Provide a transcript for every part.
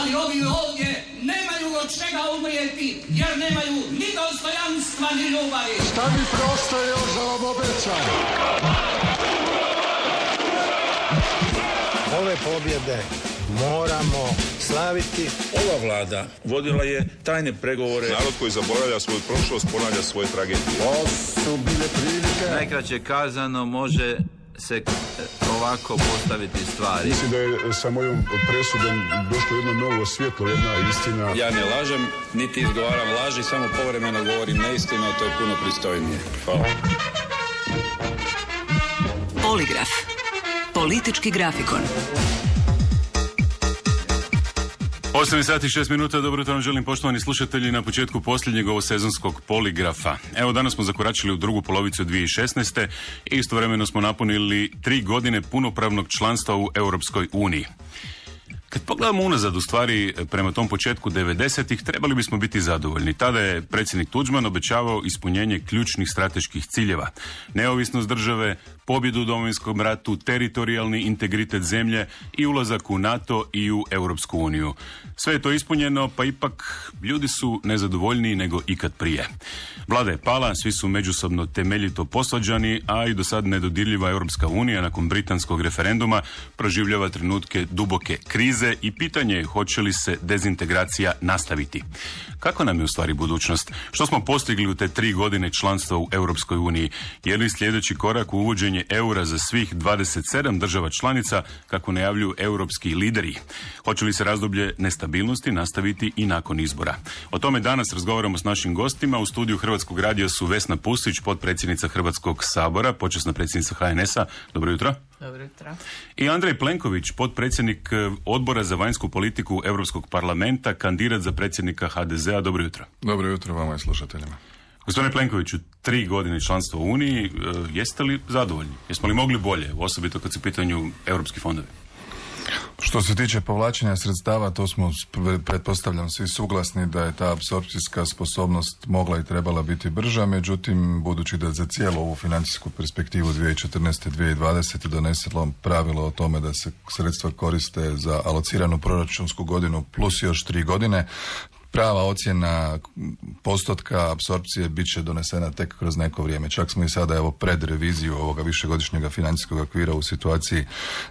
ali ovi ovdje nemaju od čega umrijeti, jer nemaju ni dostojanstva, ni ljubavi. Šta mi preostaje još da vam obećam? Ove pobjede moramo slaviti. Ova vlada vodila je tajne pregovore. Narod koji zaboravlja svoju prošlost ponavlja svoje tragedije. To su bile prilike. Najkraće kazano može se ovako postaviti stvari. Mislim da je sa mojom presudom došlo jedno novo svjetlo, jedna istina. Ja ne lažem, niti izgovaram laži, samo povremeno govorim neistinu, a to je puno pristojnije. Hvala. Poligraf. Politički grafikon. 8 sati 6 minuta, dobro jutro vam želim poštovani slušatelji na početku posljednjeg ovosezonskog poligrafa. Evo danas smo zakoračili u drugu polovicu 2016. i istovremeno smo napunili 3 godine punopravnog članstva u Europskoj uniji. Kad pogledamo unazad u stvari prema tom početku 90-ih, trebali bismo biti zadovoljni. Tada je predsjednik Tuđman obećavao ispunjenje ključnih strateških ciljeva. Neovisnost države, pobjedu u Domovinskom ratu, teritorijalni integritet zemlje i ulazak u NATO i u Europsku uniju. Sve je to ispunjeno, pa ipak ljudi su nezadovoljniji nego ikad prije. Vlada je pala, svi su međusobno temeljito posvađani, a i do sad nedodirljiva Europska unija nakon britanskog referenduma proživljava trenutke duboke krize i pitanje je hoće li se dezintegracija nastaviti. Kako nam je u stvari budućnost? Što smo postigli u te 3 godine članstva u Europskoj uniji? Je li sljedeći korak u uvođenje eura za svih 27 država članica, kako najavljuju europski lideri? Hoće li se razdoblje nestabilnosti nastaviti i nakon izbora? O tome danas razgovaramo s našim gostima. U studiju Hrvatskog radija su Vesna Pusić, potpredsjednica Hrvatskog sabora, počasna predsjednica HNS-a. Dobro jutro. Dobro jutro. I Andrej Plenković, potpredsjednik Odbora za vanjsku politiku Europskog parlamenta, kandidat za predsjednika HDZ-a. Dobro jutro. Dobro jutro vama i slušateljima. Gospodine Plenkoviću, 3 godine članstva u Uniji, jeste li zadovoljni? Jesmo li mogli bolje, osobito kad su u pitanju europski fondovi? Što se tiče povlačenja sredstava, to smo, pretpostavljam, svi suglasni da je ta apsorpcijska sposobnost mogla i trebala biti brža, međutim, budući da za cijelu ovu financijsku perspektivu 2014-2020 doneselo pravilo o tome da se sredstva koriste za alociranu proračunsku godinu plus još 3 godine, prava ocjena postotka apsorpcije bit će donesena tek kroz neko vrijeme. Čak smo i sada evo pred reviziju ovoga višegodišnjeg financijskog okvira u situaciji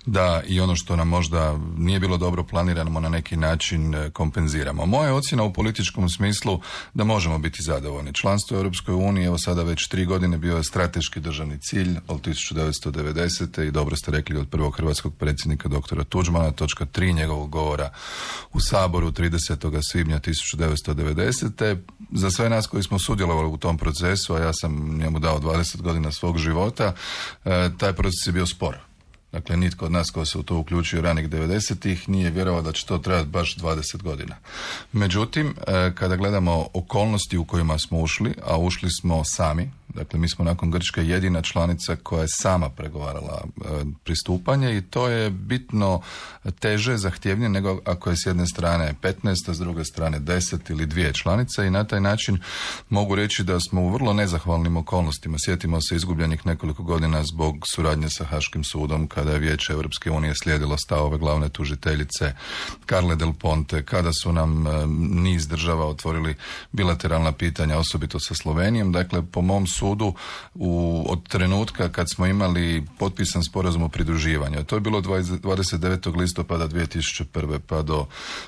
da i ono što nam možda nije bilo dobro planirano na neki način kompenziramo. Moja ocjena u političkom smislu da možemo biti zadovoljni. Članstvo u Europskoj uniji evo sada već 3 godine bio je strateški državni cilj od 1990. i dobro ste rekli od prvog hrvatskog predsjednika doktora Tuđmana, točka 3 njegovog govora u Saboru 30. svibnja 1990. Za sve nas koji smo sudjelovali u tom procesu, a ja sam njemu dao 20 godina svog života, taj proces je bio spor. Dakle, nitko od nas ko se u to uključio ranih 90-ih nije vjerovao da će to trajati baš 20 godina. Međutim, kada gledamo okolnosti u kojima smo ušli, a ušli smo sami, dakle mi smo nakon Grčke jedina članica koja je sama pregovarala pristupanje i to je bitno teže, zahtjevnije nego ako je s jedne strane 15, a s druge strane 10 ili 2 članice i na taj način mogu reći da smo u vrlo nezahvalnim okolnostima. Sjetimo se izgubljenih nekoliko godina zbog suradnje sa Haškim sudom kada je Vijeće Europske unije slijedilo stavove glavne tužiteljice Carle Del Ponte, kada su nam niz država otvorili bilateralna pitanja, osobito sa Slovenijom. Dakle, po mom sudu od trenutka kad smo imali potpisan sporazum o pridruživanju. To je bilo 29. listopada 2001. pa do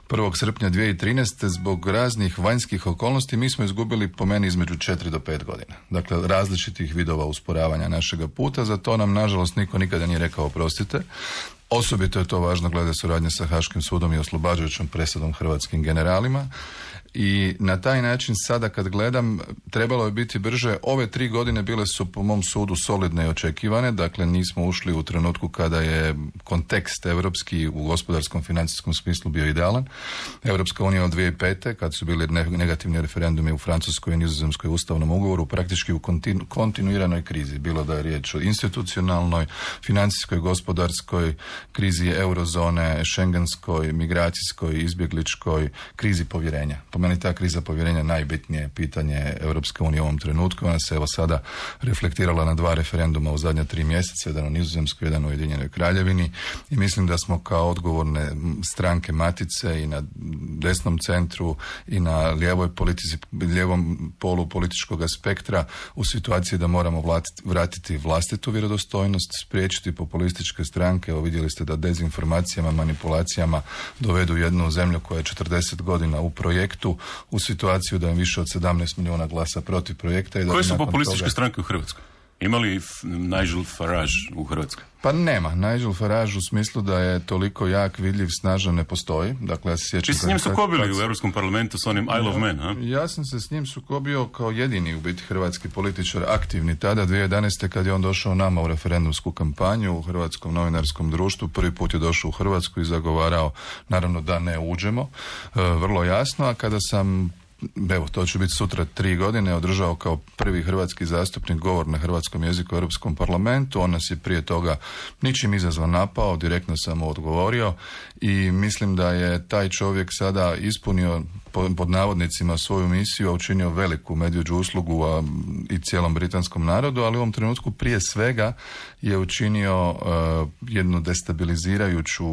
1. srpnja 2013. zbog raznih vanjskih okolnosti mi smo izgubili po meni između 4 do 5 godina. Dakle, različitih vidova usporavanja našega puta. Za to nam, nažalost, niko nikada nije rekao oprostite. Osobito je to važno glede suradnje sa Haškim sudom i oslobađajućom presudom hrvatskim generalima. I na taj način sada kad gledam trebalo je biti brže. Ove 3 godine bile su po mom sudu solidne i očekivane, dakle nismo ušli u trenutku kada je kontekst europski u gospodarskom financijskom smislu bio idealan. Europska unija od 2005. kad su bili negativni referendumi u Francuskoj i Nizozemskoj ustavnom ugovoru praktički u kontinuiranoj krizi, bilo da je riječ o institucionalnoj, financijskoj, gospodarskoj krizi eurozone, šengenskoj, migracijskoj, izbjegličkoj, krizi povjerenja. Po meni ta kriza povjerenja najbitnije pitanje Europske unije u ovom trenutku. Ona se evo sada reflektirala na 2 referenduma u zadnja 3 mjeseca, jedan u Nizozemskoj, jedan u Ujedinjenoj Kraljevini, i mislim da smo kao odgovorne stranke matice i na desnom centru i na lijevom polu političkog spektra u situaciji da moramo vratiti vlastitu vjerodostojnost, spriječiti populističke stranke. Evo vidjeli ste da dezinformacijama, manipulacijama dovedu jednu zemlju koja je 40 godina u projektu u situaciju da je više od 17 milijuna glasa protiv projekta. I da koje su populističke stranke u Hrvatskoj? Ima li Nigel Farage u Hrvatskoj? Pa nema. Nigel Farage u smislu da je toliko jak, vidljiv, snažan ne postoji. Dakle, ja se sjećam... Ti si s njim sukobili u Europskom parlamentu s onim I love men, a? Ja sam se s njim sukobio kao jedini u biti hrvatski političar aktivni tada, 2011. kad je on došao nama u referendumsku kampanju u Hrvatskom novinarskom društvu. Prvi put je došao u Hrvatsku i zagovarao, naravno, da ne uđemo. Vrlo jasno, a kada sam... Evo, to će biti sutra 3 godine, održao kao prvi hrvatski zastupnik govor na hrvatskom jeziku u Europskom parlamentu. On nas je prije toga ničim izazvan napao, direktno sam mu odgovorio i mislim da je taj čovjek sada ispunio pod navodnicima svoju misiju, a učinio veliku medvjeđu uslugu i cijelom britanskom narodu, ali u ovom trenutku prije svega je učinio jednu destabilizirajuću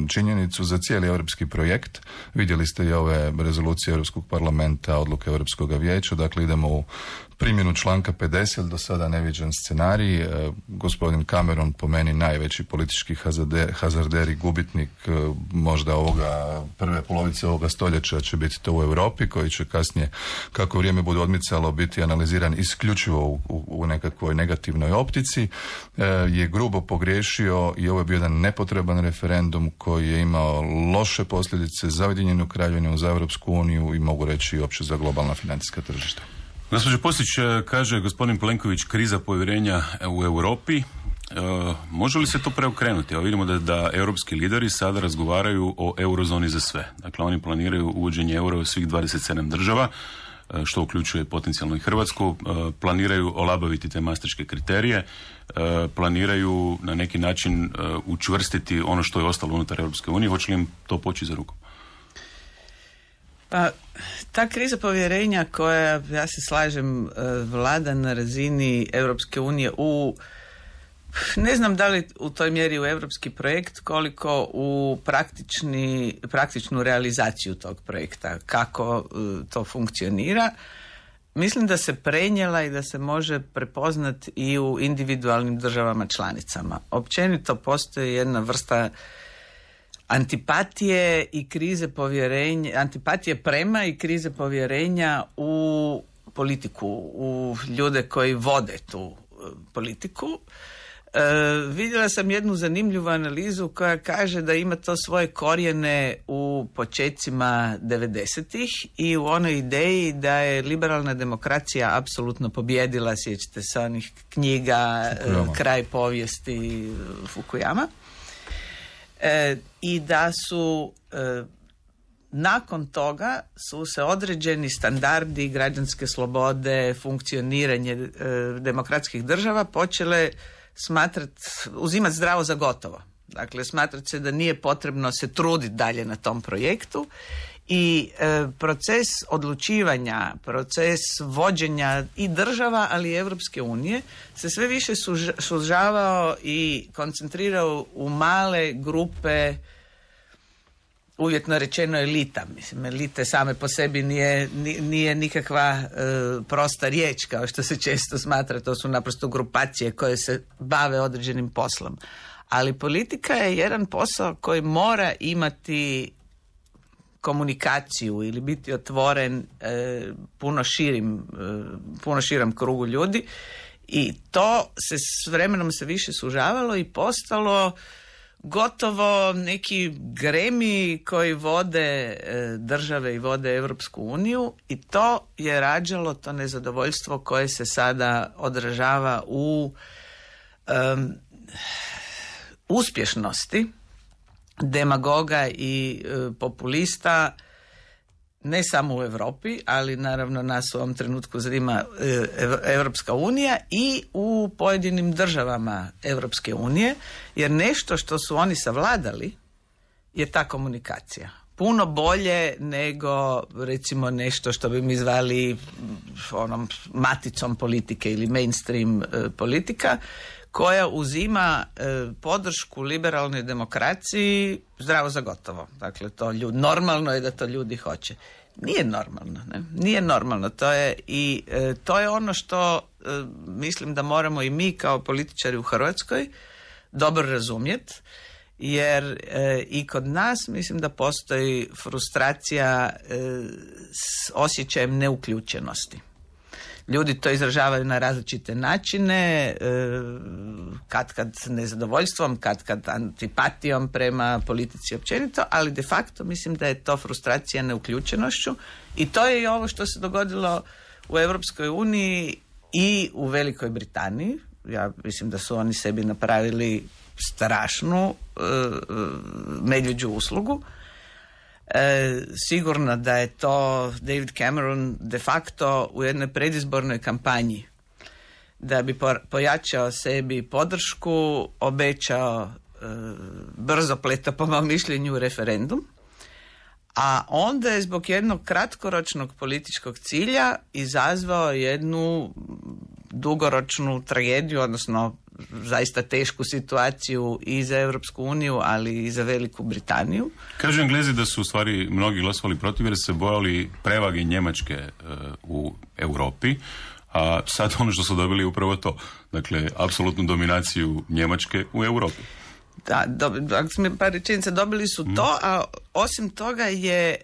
činjenicu za cijeli europski projekt. Vidjeli ste i ove rezolucije Europskog parlamenta, odluke Europskog vijeća, dakle idemo u primjenu članka 50, do sada neviđen scenarij. Gospodin Cameron, po meni najveći politički hazarder i gubitnik možda prve polovice ovoga stoljeća će biti to u Europi, koji će kasnije, kako vrijeme bude odmicalo, biti analiziran isključivo u nekakvoj negativnoj optici, je grubo pogriješio i ovo je bio jedan nepotreban referendum koji je imao loše posljedice za Ujedinjenu Kraljevinu, za Europsku uniju i mogu reći i opće za globalna financijska tržišta. Gospođo Pusić, kaže gospodin Plenković, kriza povjerenja u Europi. Može li se to preokrenuti? Evo vidimo da europski lideri sada razgovaraju o eurozoni za sve. Dakle, oni planiraju uvođenje eura u svih 27 država, što uključuje potencijalno i Hrvatsku. Planiraju olabaviti te maastrichtske kriterije. Planiraju na neki način učvrstiti ono što je ostalo unutar Europske unije. Hoće li im to poći za rukom? Pa, ta kriza povjerenja koja, ja se slažem, vlada na razini Europske unije ne znam da li u toj mjeri u europski projekt, koliko u praktičnu realizaciju tog projekta, kako to funkcionira. Mislim da se prenijela i da se može prepoznati i u individualnim državama članicama. Općenito postoji jedna vrsta antipatije i krize povjerenja, antipatije prema i krize povjerenja u politiku, u ljude koji vode tu politiku. Vidjela sam jednu zanimljivu analizu koja kaže da ima to svoje korijene u počecima 90-ih i u onoj ideji da je liberalna demokracija apsolutno pobjedila, sjećate se onih knjiga Kraj povijesti Fukuyama. I da su nakon toga su se određeni standardi građanske slobode, funkcioniranje demokratskih država počele uzimati zdravo za gotovo. Dakle, smatrati se da nije potrebno se truditi dalje na tom projektu i proces odlučivanja, proces vođenja i država, ali i Europske unije se sve više sužavao i koncentrirao u male grupe, uvjetno rečeno elita. Mislim, elite same po sebi nije nikakva prosta riječ, kao što se često smatra, to su naprosto grupacije koje se bave određenim poslom. Ali politika je jedan posao koji mora imati komunikaciju ili biti otvoren puno širom krugu ljudi i to se s vremenom se više sužavalo i postalo gotovo neki gremi koji vode države i vode Europsku uniju i to je rađalo to nezadovoljstvo koje se sada odražava u uspješnosti demagoga i populista ne samo u Europi, ali naravno nas u ovom trenutku zanima Europska unija i u pojedinim državama Europske unije, jer nešto što su oni savladali je ta komunikacija. puno bolje nego recimo nešto što bi mi zvali onom maticom politike ili mainstream politika, koja uzima podršku liberalnoj demokraciji zdravo za gotovo. Dakle, to normalno je da to ljudi hoće. Nije normalno, ne? Nije normalno. To je ono što mislim da moramo i mi kao političari u Hrvatskoj dobro razumjeti, jer i kod nas mislim da postoji frustracija s osjećajem neuključenosti. Ljudi to izražavaju na različite načine, kad nezadovoljstvom, kad antipatijom prema politici općenito, ali de facto mislim da je to frustracija neuključenošću i to je i ovo što se dogodilo u Europskoj uniji i u Velikoj Britaniji. Ja mislim da su oni sebi napravili strašnu medvjeđu uslugu. Sigurno da je to David Cameron de facto u jednoj predizbornoj kampanji da bi pojačao sebi podršku obećao brzopleto po mom mišljenju referendum, a onda je zbog jednog kratkoročnog političkog cilja izazvao jednu dugoročnu tragediju, odnosno zaista tešku situaciju i za Europsku uniju, ali i za Veliku Britaniju. Kažu Englezi da su u stvari mnogi glasovali protiv jer se bojali prevage Njemačke u Europi, a sad ono što su dobili je upravo to. Dakle, apsolutnu dominaciju Njemačke u Europi. Da, ako smo par rečenica, dobili su to, a osim toga je...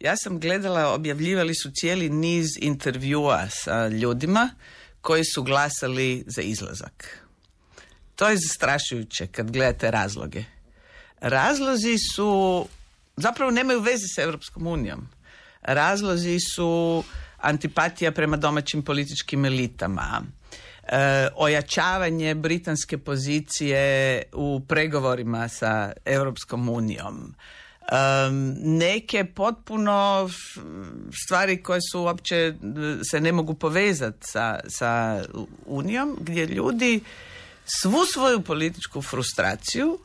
ja sam gledala, objavljivali su cijeli niz intervjua sa ljudima koji su glasali za izlazak. To je zastrašujuće kad gledate razloge. Razlozi su, zapravo nemaju veze s Europskom unijom. Razlozi su antipatija prema domaćim političkim elitama, ojačavanje britanske pozicije u pregovorima sa Europskom unijom, neke potpuno stvari koje su uopće se ne mogu povezati sa Unijom, gdje ljudi svu svoju političku frustraciju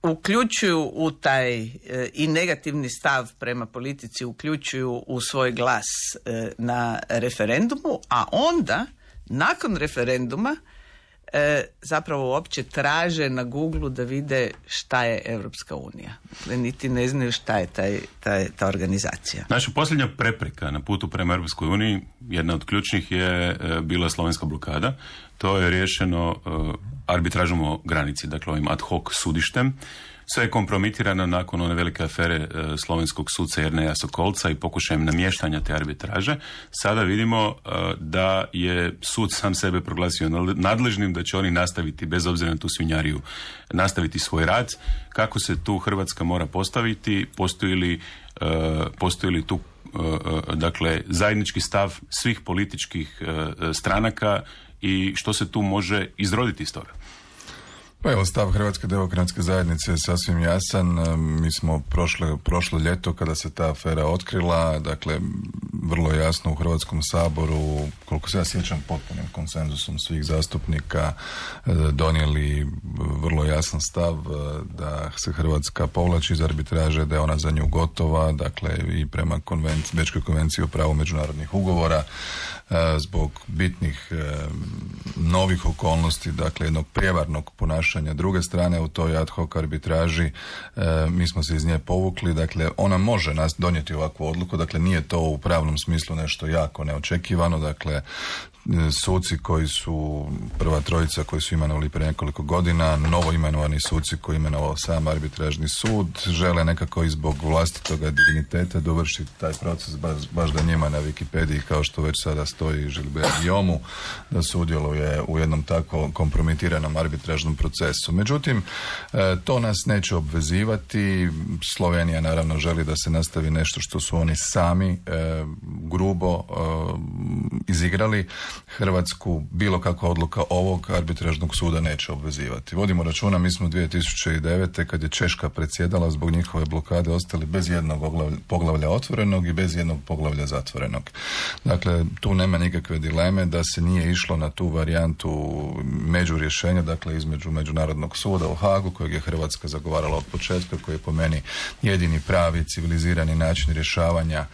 uključuju u taj i negativni stav prema politici uključuju u svoj glas na referendumu, a onda nakon referenduma zapravo uopće traže na Google da vide šta je Europska unija. Niti ne znaju šta je ta organizacija. Naša posljednja prepreka na putu prema Europskoj uniji, jedna od ključnih je bila slovenska blokada. To je riješeno arbitražom o granici, dakle ovim ad hoc sudištem. Sve je kompromitirano nakon one velike afere slovenskog suca Jerneja Sokolca i pokušajem namještanja te arbitraže. Sada vidimo da je sud sam sebe proglasio nadležnim, da će oni nastaviti, bez obzira na tu svinjariju, nastaviti svoj rad. Kako se tu Hrvatska mora postaviti? Postoji li tu dakle zajednički stav svih političkih stranaka i što se tu može izroditi iz toga? Pa evo, stav Hrvatske demokratske zajednice je sasvim jasan. Mi smo prošlo ljeto kada se ta afera otkrila, dakle vrlo jasno u Hrvatskom saboru, koliko se ja sjećam, potpunim konsenzusom svih zastupnika donijeli vrlo jasan stav da se Hrvatska povlači iz arbitraže, da je ona za nju gotova, dakle i prema Bečkoj konvenciji o pravu međunarodnih ugovora, zbog bitnih novih okolnosti, dakle jednog prijevarnog ponašanja druge strane u toj ad hoc arbitraži, mi smo se iz nje povukli, dakle ona može nas donijeti ovakvu odluku, dakle nije to u pravnom smislu nešto jako neočekivano, dakle suci koji su, prva trojica koji su imenovali prije nekoliko godina, novo imenovani suci koji imenovao sam arbitražni sud, žele nekako i zbog vlastitoga digniteta dovršiti taj proces, baš da njima na Wikipediji, kao što već sada stoji Gilbert Guillaume, da sudjeluje u jednom tako kompromitiranom arbitražnom procesu. Međutim, to nas neće obvezivati. Slovenija naravno želi da se nastavi nešto što su oni sami grubo izigrali. Hrvatsku bilo kakva odluka ovog arbitražnog suda neće obvezivati. Vodimo računa, mi smo 2009. kad je Češka predsjedala, zbog njihove blokade ostali bez jednog poglavlja otvorenog i bez jednog poglavlja zatvorenog. Dakle, tu nema nikakve dileme da se nije išlo na tu varijantu međurješenja, dakle između Međunarodnog suda u Hagu, kojeg je Hrvatska zagovarala od početka, koji je po meni jedini pravi civilizirani način rješavanja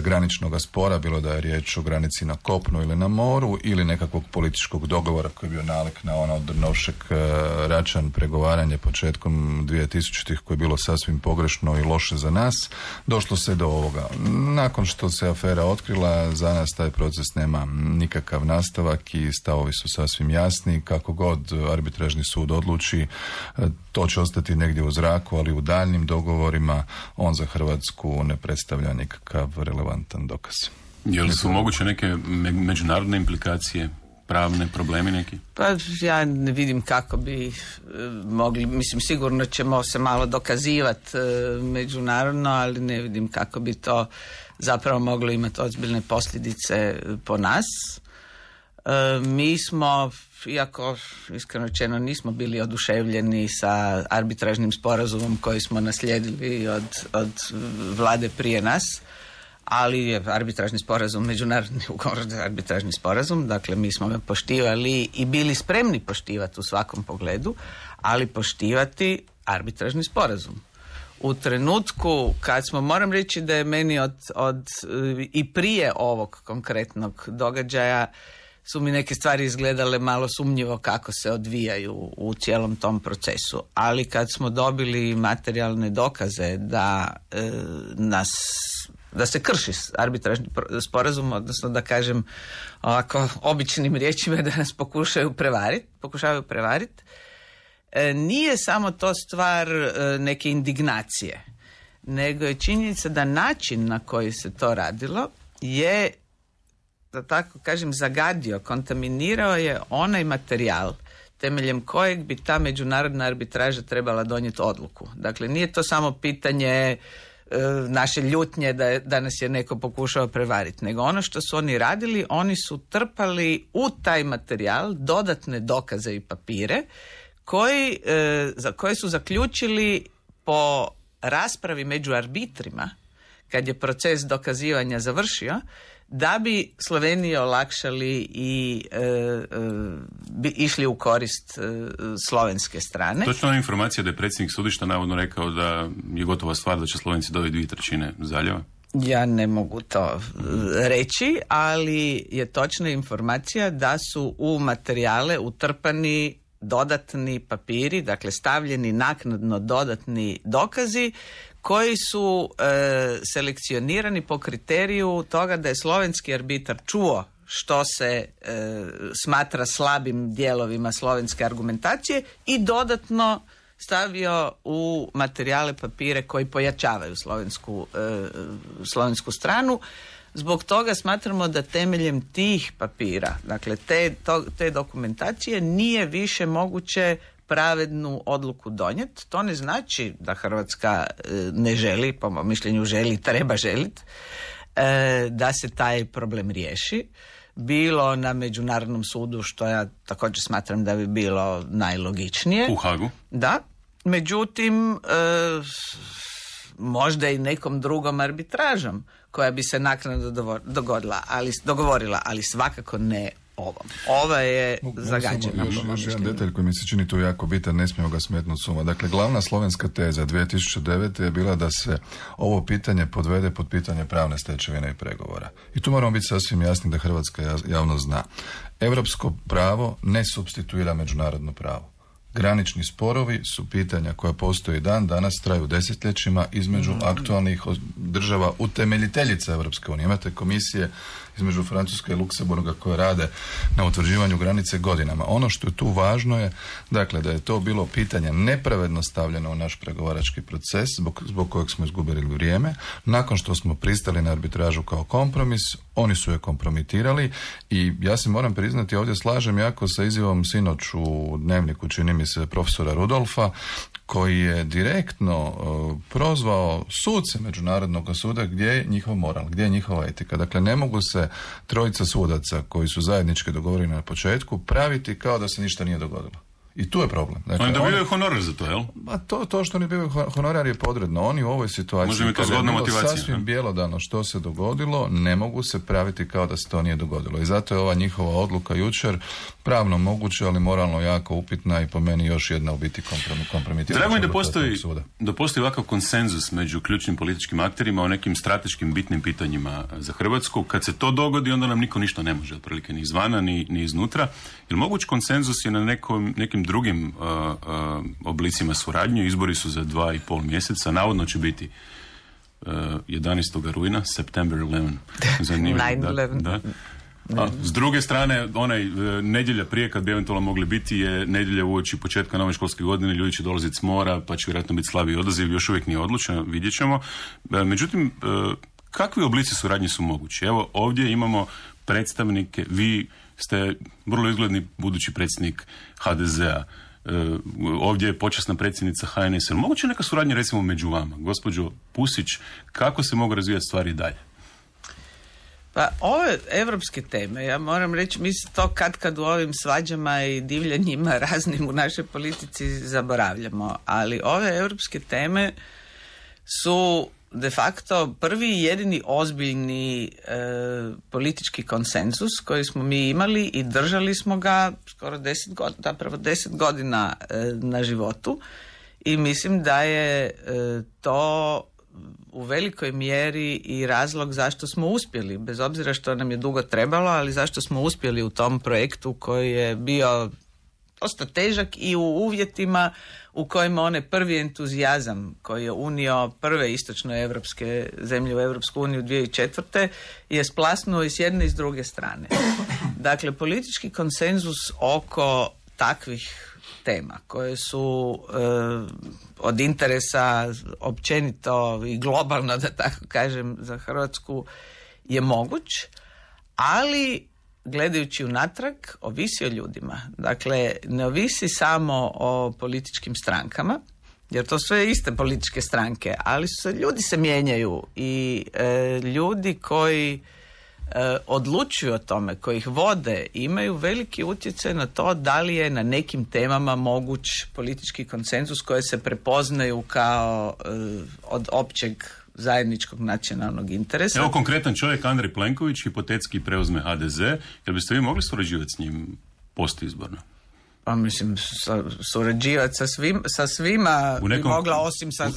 graničnog spora, bilo da je riječ o granici na kopnu ili na moru, ili nekakvog političkog dogovora koji je bio nalik na ono Drnovšek-Račan pregovaranje početkom 2000-ih koje je bilo sasvim pogrešno i loše za nas. Došlo se do ovoga. Nakon što se afera otkrila, za nas taj proces nema nikakav nastavak i stavovi su sasvim jasni. Kako god arbitražni sud odluči, to će ostati negdje u zraku, ali u daljnjim dogovorima on za Hrvatsku ne predstavlja nikakav relevantan dokaz. Je li su moguće neke međunarodne implikacije, pravne problemi neki? Pa ja ne vidim kako bi mogli, mislim sigurno ćemo se malo dokazivati međunarodno, ali ne vidim kako bi to zapravo moglo imati ozbiljne posljedice po nas. Mi smo, iako iskreno rečeno nismo bili oduševljeni sa arbitražnim sporazumom koji smo naslijedili od vlade prije nas, ali je arbitražni sporazum, međunarodni ugovor, arbitražni sporazum, dakle mi smo ga poštivali i bili spremni poštivati u svakom pogledu, ali poštivati arbitražni sporazum. U trenutku kad smo, moram reći da je meni od i prije ovog konkretnog događaja su mi neke stvari izgledale malo sumnjivo kako se odvijaju u cijelom tom procesu. Ali kad smo dobili materijalne dokaze da se krši arbitražni sporazum, odnosno da kažem ovako običnim riječima da nas pokušavaju prevariti, nije samo to stvar neke indignacije, nego je činjenica da način na koji se to radilo je, da tako kažem, zagadio, kontaminirao je onaj materijal temeljem kojeg bi ta međunarodna arbitraža trebala donijeti odluku. Dakle, nije to samo pitanje naše ljutnje da nas je neko pokušao prevariti, nego ono što su oni radili, oni su trpali u taj materijal dodatne dokaze i papire za koje su zaključili po raspravi među arbitrima, kad je proces dokazivanja završio, da bi Sloveniji olakšali i išli u korist slovenske strane. Točno je informacija da je predsjednik sudišta navodno rekao da je gotova stvar da će Slovenci dobiti 2/3 zaljeva? Ja ne mogu to reći, ali je točna informacija da su u materijale utrpani dodatni papiri, dakle stavljeni naknadno dodatni dokazi koji su selekcionirani po kriteriju toga da je slovenski arbitar čuo što se smatra slabim dijelovima slovenske argumentacije i dodatno stavio u materijale papire koji pojačavaju slovensku stranu. Zbog toga smatramo da temeljem tih papira, dakle te dokumentacije, nije više moguće pravednu odluku donijeti. To ne znači da Hrvatska ne želi, po mom mišljenju želi, treba želiti, da se taj problem riješi. Bilo na Međunarodnom sudu, što ja također smatram da bi bilo najlogičnije. U Hagu? Da. Međutim, možda i nekom drugom arbitražom koja bi se naknadno dogovorila, ali svakako ne ovom. Ova je zagađena. Još jedan detalj koji mi se čini tu jako bitan, ne smijemo ga smetnuti suma. Dakle, glavna slovenska teza 2009. je bila da se ovo pitanje podvede pod pitanje pravne stečevine i pregovora. I tu moramo biti sasvim jasni da hrvatska javnost zna. Europsko pravo ne supstituira međunarodno pravo. Granični sporovi su pitanja koja postoje danas, traju desetljećima između aktualnih država utemeljiteljica Europske unije. Imate komisije između Francuske i Luksemburga koje rade na utvrđivanju granice godinama. Ono što je tu važno je, dakle, da je to bilo pitanje nepravedno stavljeno u naš pregovarački proces zbog kojeg smo izgubili vrijeme. Nakon što smo pristali na arbitražu kao kompromis, oni su je kompromitirali i ja se moram priznati, ovdje slažem jako sa izjavom sinoć u Dnevniku, čini mi se, profesora Rudolfa, koji je direktno prozvao suce Međunarodnog suda gdje je njihov moral, gdje je njihova etika. Dakle, ne mogu se trojica sudaca koji su zajednički dogovoreni na početku praviti kao da se ništa nije dogodilo. I tu je problem. Dakle, oni dobivaju honorar za to, jel? To što oni dobivaju honorar je podredno. Oni u ovoj situaciji, kada je bilo sasvim bjelodano što se dogodilo, ne mogu se praviti kao da se to nije dogodilo. I zato je ova njihova odluka jučer pravno moguća, ali moralno jako upitna i po meni još jedna u biti kompromitirajuća. Drago mi da postoji ovakav konsenzus među ključnim političkim akterima o nekim strateškim bitnim pitanjima za Hrvatsku. Kad se to dogodi, onda nam niko ništa ne može, otprilike ni izvana, ni iznutra. Jer moguć konsenzus je na nekim drugim oblicima suradnje. Izbori su za 2,5 mjeseca. Navodno će biti 11. rujna, September 11. Zanimljivo. 9/11. Da. A s druge strane, nedjelja prije kad bi eventualno mogli biti je nedjelja uoči početka nove školske godine, ljudi će dolaziti s mora, pa će vjerojatno biti slabiji odaziv, još uvijek nije odlučeno, vidjet ćemo. Međutim, kakvi oblici suradnje su mogući? Evo, ovdje imamo predstavnike, vi ste vrlo izgledni budući predsjednik HDZ-a, ovdje je počasna predsjednica HNS-a. Moguće neka suradnja recimo među vama? Gospođo Pusić, kako se mogu razvijati stvari dalje? Pa ove evropske teme, ja moram reći, mi se to kad u ovim svađama i divljanjima raznim u našoj politici zaboravljamo, ali ove evropske teme su de facto prvi i jedini ozbiljni politički konsenzus koji smo mi imali i držali smo ga skoro 10 godina na životu i mislim da je to u velikoj mjeri i razlog zašto smo uspjeli, bez obzira što nam je dugo trebalo, ali zašto smo uspjeli u tom projektu koji je bio dosta težak i u uvjetima u kojima onaj prvi entuzijazam koji je unio prve istočnoevropske zemlje u Europsku uniju 2004. je splasnuo i s jedne i s druge strane. Dakle, politički konsenzus oko takvih tema koje su od interesa općenito i globalno, da tako kažem, za Hrvatsku je moguć, ali gledajući unatrag ovisi o ljudima. Dakle, ne ovisi samo o političkim strankama, jer to sve iste političke stranke, ali ljudi se mijenjaju i ljudi koji odlučuju o tome, koji ih vode, imaju veliki utjecaj na to da li je na nekim temama moguć politički konsenzus koje se prepoznaju kao od općeg zajedničkog nacionalnog interesa. Evo konkretan čovjek, Andrej Plenković, hipotetski preuzme HDZ, jer biste vi mogli surađivati s njim postizborno? Pa mislim, surađivati sa svima bi mogla, osim sa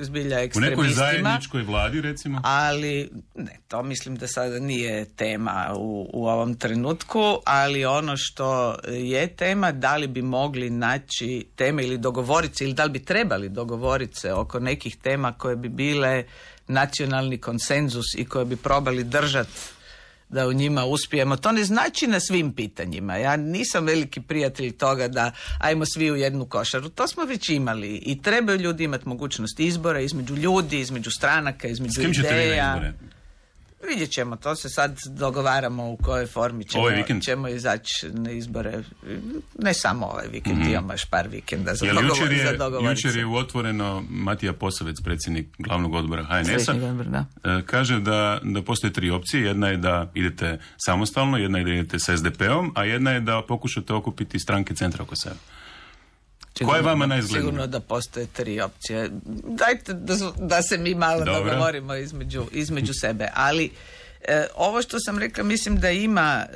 zbilja ekstremistima. U nekoj zajedničkoj vladi, recimo? Ali, ne, to mislim da sada nije tema u ovom trenutku, ali ono što je tema, da li bi mogli naći teme ili dogovoriti se, ili da li bi trebali dogovoriti se oko nekih tema koje bi bile nacionalni konsenzus i koje bi probali držati da u njima uspijemo. To ne znači na svim pitanjima. Ja nisam veliki prijatelj toga da ajmo svi u jednu košaru. To smo već imali i trebaju ljudi imati mogućnost izbora između ljudi, između stranaka, između ideja. S kim ćete vi na izbore? Vidjet ćemo, to se sad dogovaramo u kojoj formi ćemo izaći na izbore. Ne samo ovaj vikend, imamo još par vikenda za dogovoriti. Jučer je u Otvoreno Matija Posavec, predsjednik glavnog odbora HNS-a, kaže da postoje 3 opcije. Jedna je da idete samostalno, jedna je da idete sa SDP-om, a jedna je da pokušate okupiti stranke centra oko sebe. Koja je vama najizglednija? Sigurno da postoje 3 opcije. Dajte da se mi malo dogovorimo između sebe. Ali ovo što sam rekla mislim da ima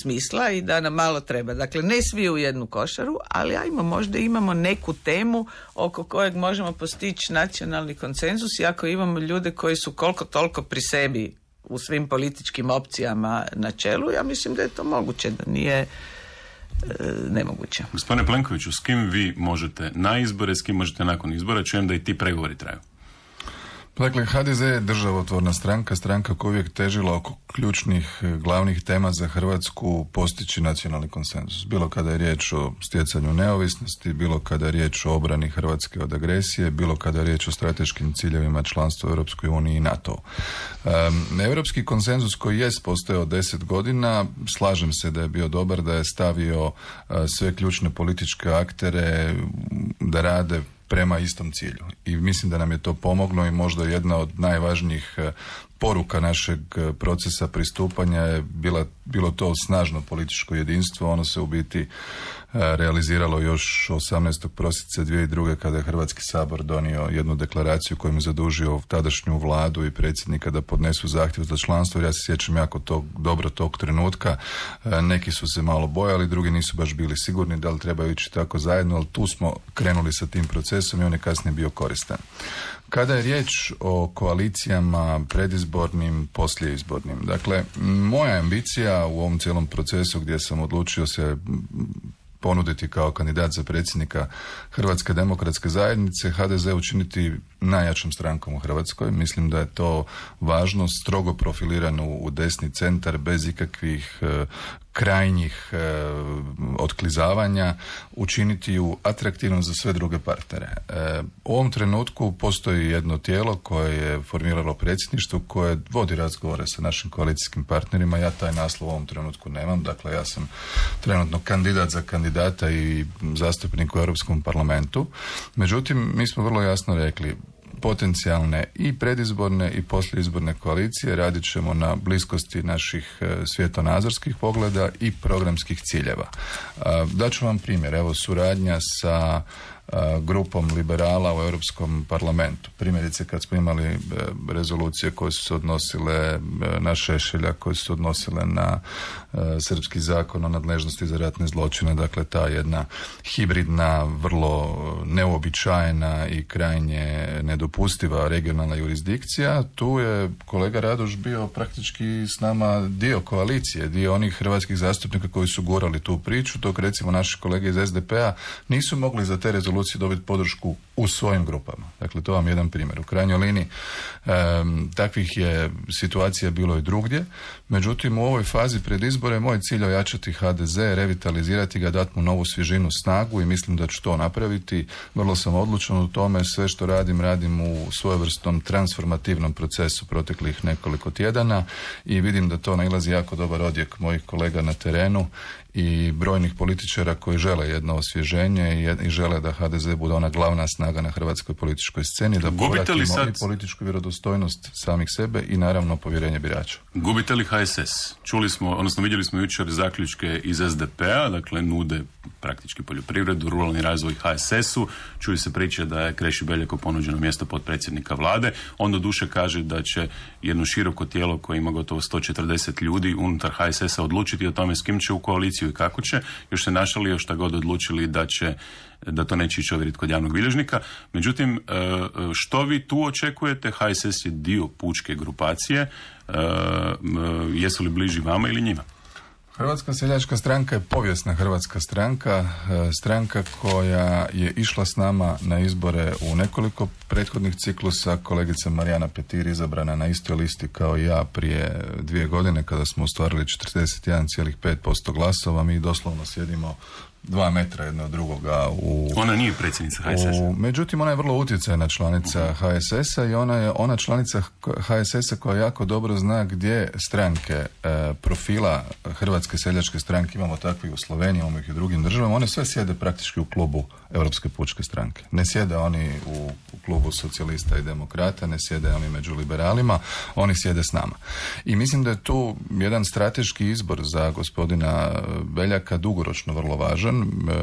smisla i da nam malo treba. Dakle, ne svi u jednu košaru, ali možda imamo neku temu oko kojeg možemo postići nacionalni konsenzus i ako imamo ljude koji su koliko toliko pri sebi u svim političkim opcijama na čelu, ja mislim da je to moguće, da nije nemoguće. Gospodine Plenkoviću, s kim vi možete na izbore, s kim možete nakon izbora? Čujem da i ti pregovori traju. Dakle, HDZ je državotvorna stranka koja uvijek težila oko ključnih glavnih tema za Hrvatsku postići nacionalni konsenzus. Bilo kada je riječ o stjecanju neovisnosti, bilo kada je riječ o obrani Hrvatske od agresije, bilo kada je riječ o strateškim ciljevima članstva u Europskoj uniji i NATO. Europski konsenzus koji jest postojao 10 godina, slažem se da je bio dobar, da je stavio sve ključne političke aktere da rade prema istom cilju. I mislim da nam je to pomoglo i možda jedna od najvažnijih poruka našeg procesa pristupanja je bilo to snažno političko jedinstvo. Ono se u biti realiziralo još 18. prosinca 2002. kada je Hrvatski sabor donio jednu deklaraciju kojom je zadužio tadašnju vladu i predsjednika da podnesu zahtjev za članstvo. Ja se sjećam jako dobro tog trenutka. Neki su se malo bojali, drugi nisu baš bili sigurni da li trebaju ići tako zajedno, ali tu smo krenuli sa tim procesom i on je kasnije bio koristan. Kada je riječ o koalicijama predizbornim, poslijeizbornim, dakle, moja ambicija u ovom cijelom procesu gdje sam odlučio se ponuditi kao kandidat za predsjednika Hrvatske demokratske zajednice, HDZ učiniti najjačom strankom u Hrvatskoj. Mislim da je to važno, strogo profilirano u desni centar, bez ikakvih krajnjih otklizavanja, učiniti ju atraktivnom za sve druge partnere. U ovom trenutku postoji jedno tijelo koje je formiralo predsjedništvo, koje vodi razgovore sa našim koalicijskim partnerima. Ja taj naslov u ovom trenutku nemam, dakle ja sam trenutno kandidat za kandidata i zastupnik u Europskom parlamentu. Međutim, mi smo vrlo jasno rekli, potencijalne i predizborne i poslijeizborne koalicije radit ćemo na bliskosti naših svjetonazorskih pogleda i programskih ciljeva. Daću vam primjer, evo suradnja sa grupom liberala u Europskom parlamentu. Primjerice kad smo imali rezolucije koje su se odnosile na Šešelja, koje su se odnosile na srpski zakon o nadležnosti za ratne zločine, dakle ta jedna hibridna, vrlo neuobičajena i krajnje nedopustiva regionalna jurisdikcija, tu je kolega Radoš bio praktički s nama dio koalicije, dio onih hrvatskih zastupnika koji su gurali tu priču, dok recimo naši kolege iz SDP-a nisu mogli za te rezolucije dobiti podršku u svojim grupama. Dakle, to vam je jedan primjer. U krajnjoj liniji takvih je situacija bilo i drugdje. Međutim, u ovoj fazi pred izbore moj cilj je ojačati HDZ, revitalizirati ga, dati mu novu svježinu, snagu i mislim da ću to napraviti. Vrlo sam odlučan u tome. Sve što radim u svojevrsnom transformativnom procesu proteklih nekoliko tjedana i vidim da to nailazi jako dobar odjek mojih kolega na terenu i brojnih političara koji žele jedno osvježenje i žele da HDZ bude ona glavna snaga na hrvatskoj političkoj sceni, da povratimo i političku vjerodostojnost samih sebe i naravno povjerenje birača. Gubite li HSS? Čuli smo, odnosno vidjeli smo jučer zaključke iz SDP-a, dakle nude praktički poljoprivredu, ruralni razvoj HSS-u, čuju se priče da je Kreši Beljaku ponuđeno mjesto potpredsjednika vlade, on do duše kaže da će jedno široko tijelo koje ima gotovo 140 ljudi unutar HSS-a odlučiti o tome s kim će u koaliciju i kako će, još se našalio šta god odlučili da to neće ići ovjeriti kod javnog bilježnika. Međutim, što vi tu očekujete? HSS je dio pučke grupacije, jesu li bliži vama ili njima? Hrvatska seljačka stranka je povijesna hrvatska stranka, stranka koja je išla s nama na izbore u nekoliko prethodnih ciklusa. Kolegica Marijana Petir izabrana na istoj listi kao i ja prije 2 godine kada smo ostvarili 41,5% glasova. Mi doslovno sjedimo 2 metra jedno od drugoga. Ona nije predsjednica HSS-a. Međutim, ona je vrlo utjecajna članica HSS-a i ona je ona članica HSS-a koja jako dobro zna gdje stranke profila Hrvatske seljačke stranke, imamo takvi u Sloveniji, imamo ih i u drugim državama, one sve sjede praktički u klubu Europske pučke stranke. Ne sjede oni u klubu socijalista i demokrata, ne sjede oni među liberalima, oni sjede s nama. I mislim da je tu jedan strateški izbor za gospodina Beljaka dugoročno vrlo važan.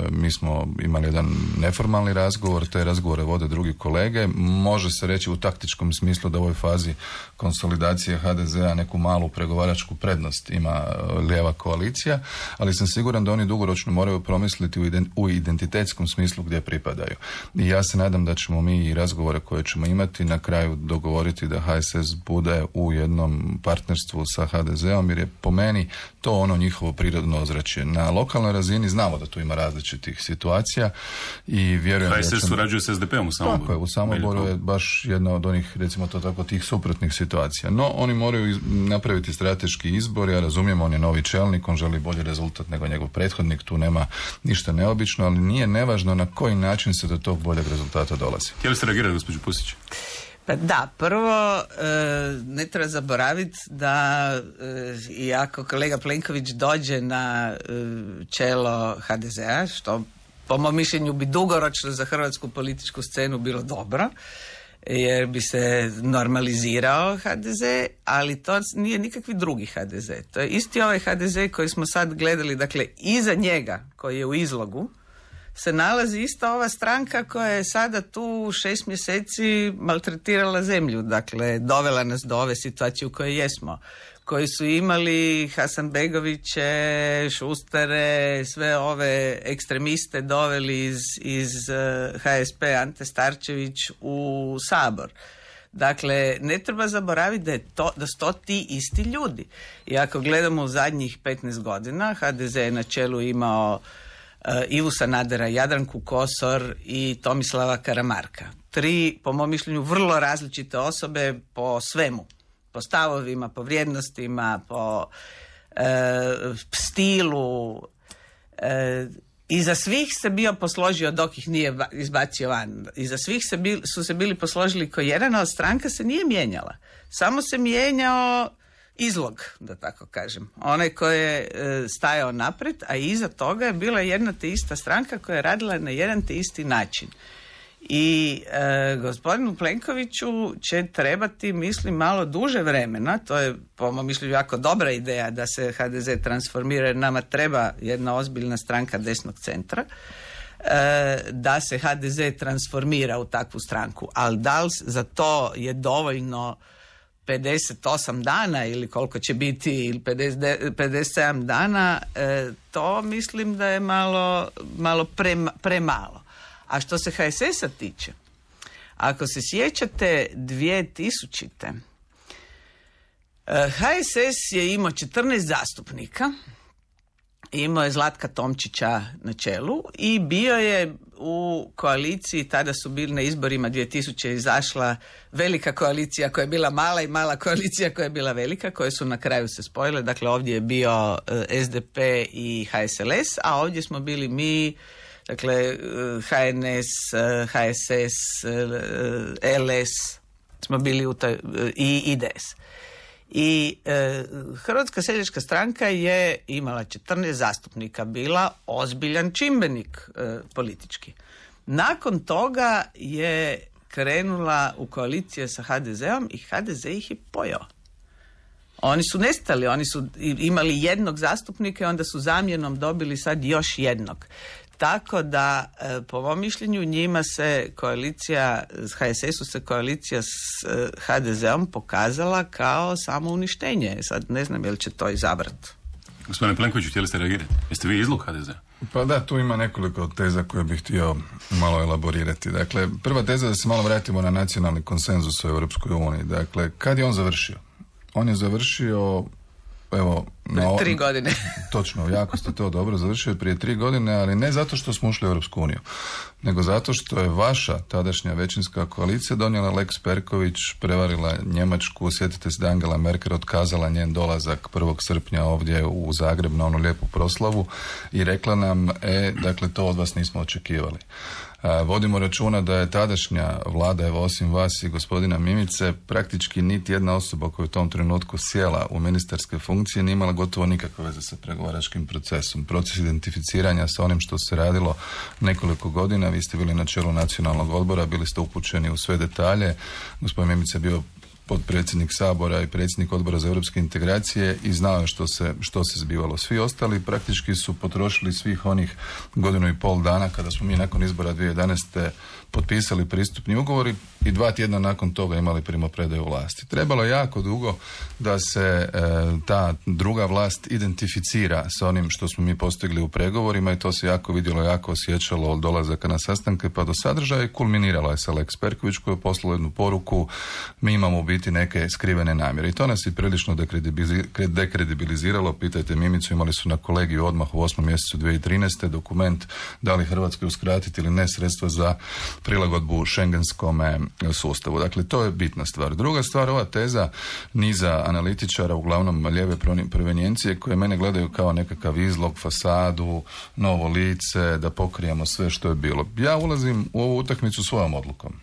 Mi smo imali jedan neformalni razgovor, te razgovore vode drugi kolege. Može se reći u taktičkom smislu da u ovoj fazi konsolidacije HDZ-a neku malu pregovaračku prednost ima lijeva koalicija, ali sam siguran da oni dugoročno moraju promisliti u identitetskom smislu gdje pripadaju. I ja se nadam da ćemo mi i razgovore koje ćemo imati na kraju dogovoriti da HSS bude u jednom partnerstvu sa HDZ-om, jer je po meni to ono njihovo prirodno ozračje. Na lokalnoj razini znamo da tu ima različitih situacija i vjerujem HSS da ćemo... surađuje s SDP-om u Samoboru. Tako je, u Samoboru je baš jedna od onih, recimo to tako, tih suprotnih situacija. No, oni moraju napraviti strateški izbor, ja razumijem, on je novi čelnik, on želi bolji rezultat nego njegov prethodnik, tu nema ništa neobično, ali nije nevažno na koji način se do tog boljeg rezultata dolazi. Htjeli ste reagirati, gospođo Pusić? Pa da, prvo ne treba zaboraviti da i ako kolega Plenković dođe na čelo HDZ-a, što po mom mišljenju bi dugoročno za hrvatsku političku scenu bilo dobro, jer bi se normalizirao HDZ, ali to nije nikakvi drugi HDZ. To je isti ovaj HDZ koji smo sad gledali, dakle iza njega koji je u izlogu se nalazi ista ova stranka koja je sada tu 6 mjeseci maltretirala zemlju, dakle dovela nas do ove situacije u kojoj jesmo, koji su imali Hasanbegoviće, Šustere, sve ove ekstremiste doveli iz HSP, Ante Starčević u Sabor. Dakle, ne treba zaboraviti da su to ti isti ljudi. I ako gledamo u zadnjih 15 godina, HDZ je na čelu imao Ivu Sanadera, Jadranku Kosor i Tomislava Karamarka. 3, po mom mišljenju, vrlo različite osobe po svemu. Po stavovima, po vrijednostima, po stilu. Iza svih se bio posložio dok ih nije izbacio van. Iza svih su se bili posložili ko jedan, a stranka se nije mijenjala. Samo se mijenjao izlog, da tako kažem. Onaj koji je stajao naprijed, a iza toga je bila jedna te ista stranka koja je radila na jedan te isti način. I gospodinu Plenkoviću će trebati, mislim, malo duže vremena, to je po mom mišljenju jako dobra ideja da se HDZ transformira, jer nama treba jedna ozbiljna stranka desnog centra, da se HDZ transformira u takvu stranku. Ali da li za to je dovoljno 58 dana ili koliko će biti, ili 57 dana, to mislim da je malo premalo. A što se HSS-a tiče, ako se sjećate 2000. HSS je imao 14 zastupnika, imao je Zlatka Tomčića na čelu i bio je u koaliciji, tada su bili na izborima 2000 izašla velika koalicija koja je bila mala i mala koalicija koja je bila velika, koje su na kraju se spojile. Dakle, ovdje je bio SDP i HSLS, a ovdje smo bili mi, dakle HNS, HSS, LS, smo bili i IDS. I Hrvatska seljačka stranka je imala 14 zastupnika, bila ozbiljan čimbenik politički. Nakon toga je krenula u koalicije sa HDZ-om i HDZ ih je pojeo. Oni su nestali, oni su imali jednog zastupnika i onda su zamjenom dobili sad još jednog. Tako da, po mom mišljenju, njima se koalicija, HSS-u se koalicija s HDZ-om pokazala kao samouništenje. Sad ne znam je li će to izabrati. Gospodine Plenkoviću, htjeli ste reagirati? Jeste vi izlog HDZ-a? Pa da, tu ima nekoliko teza koje bih htio malo elaborirati. Dakle, prva teza da se malo vratimo na nacionalni konsenzus u Europskoj uniji. Dakle, kad je on završio? On je završio, evo... 3 godine. Točno, jako ste to dobro završili prije 3 godine, ali ne zato što smo ušli u Europsku uniju, nego zato što je vaša tadašnja većinska koalicija donijela Lex Perković, prevarila Njemačku, sjetite se da Angela Merkel otkazala njen dolazak 1. srpnja ovdje u Zagreb na onu lijepu proslavu i rekla nam, dakle to od vas nismo očekivali. Vodimo računa da je tadašnja vlada, evo osim vas i gospodina Mimice, praktički niti jedna osoba koja je u tom trenutku sjela u ministarske funkcije nije imala gotovo nikakve veze sa pregovaračkim procesom. Proces identificiranja sa onim što se radilo nekoliko godina, vi ste bili na čelu nacionalnog odbora, bili ste upućeni u sve detalje, gospodin Mimica je bio potpredsjednik Sabora i predsjednik Odbora za europske integracije i znao je što se zbivalo. Svi ostali praktički su potrošili svih onih 1.5 godina kada smo mi nakon izbora 2011. potpisali pristupni ugovori i 2 tjedna nakon toga imali primopredaju vlasti. Trebalo je jako dugo da se ta druga vlast identificira sa onim što smo mi postigli u pregovorima i to se jako vidjelo, jako osjećalo od dolazaka na sastanke pa do sadržaja i kulminiralo je sa Lex Perković koji je poslao jednu poruku, mi imamo u biti neke skrivene namjere i to nas je prilično dekredibiliziralo. Pitajte Mimicu, imali su na kolegiju odmah u 8. mjesecu 2013. dokument da li Hrvatskoj uskratiti ili ne sredstva za prilagodbu šengenskome sustavu. Dakle, to je bitna stvar. Druga stvar, ova teza niza analitičara, uglavnom lijeve provenijencije, koje mene gledaju kao nekakav izlog, fasadu, novo lice, da pokrijemo sve što je bilo. Ja ulazim u ovu utakmicu svojom odlukom.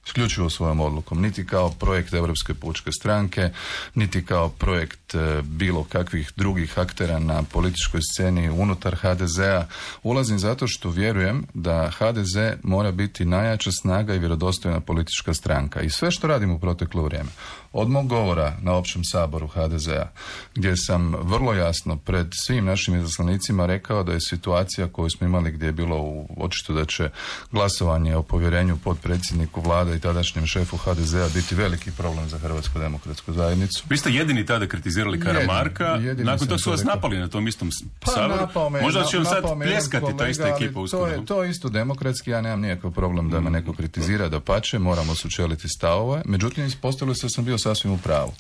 isključivo svojom odlukom, niti kao projekt Europske pučke stranke, niti kao projekt bilo kakvih drugih aktera na političkoj sceni unutar HDZ-a. Ulazim zato što vjerujem da HDZ mora biti najjača snaga i vjerodostojna politička stranka. I sve što radim u proteklo vrijeme, od mog govora na općem saboru HDZ-a, gdje sam vrlo jasno pred svim našim izaslanicima rekao da je situacija koju smo imali, gdje je bilo očito da će glasovanje o povjerenju potpredsjedniku vlade i tadašnjem šefu HDZ-a biti veliki problem za Hrvatsku demokratsku zajednicu. Vi ste jedini tada kritizirali Karamarka, nakon toga su vas napali na tom istom saboru. Možda će vam sad pljeskati ta ista ekipa uskoro. To je isto demokratski, ja nemam nikakav problem da me neko kritizira, dapače, moramo sučeliti stavove, međutim ispostavilo se da sam bio sasvim u pravu.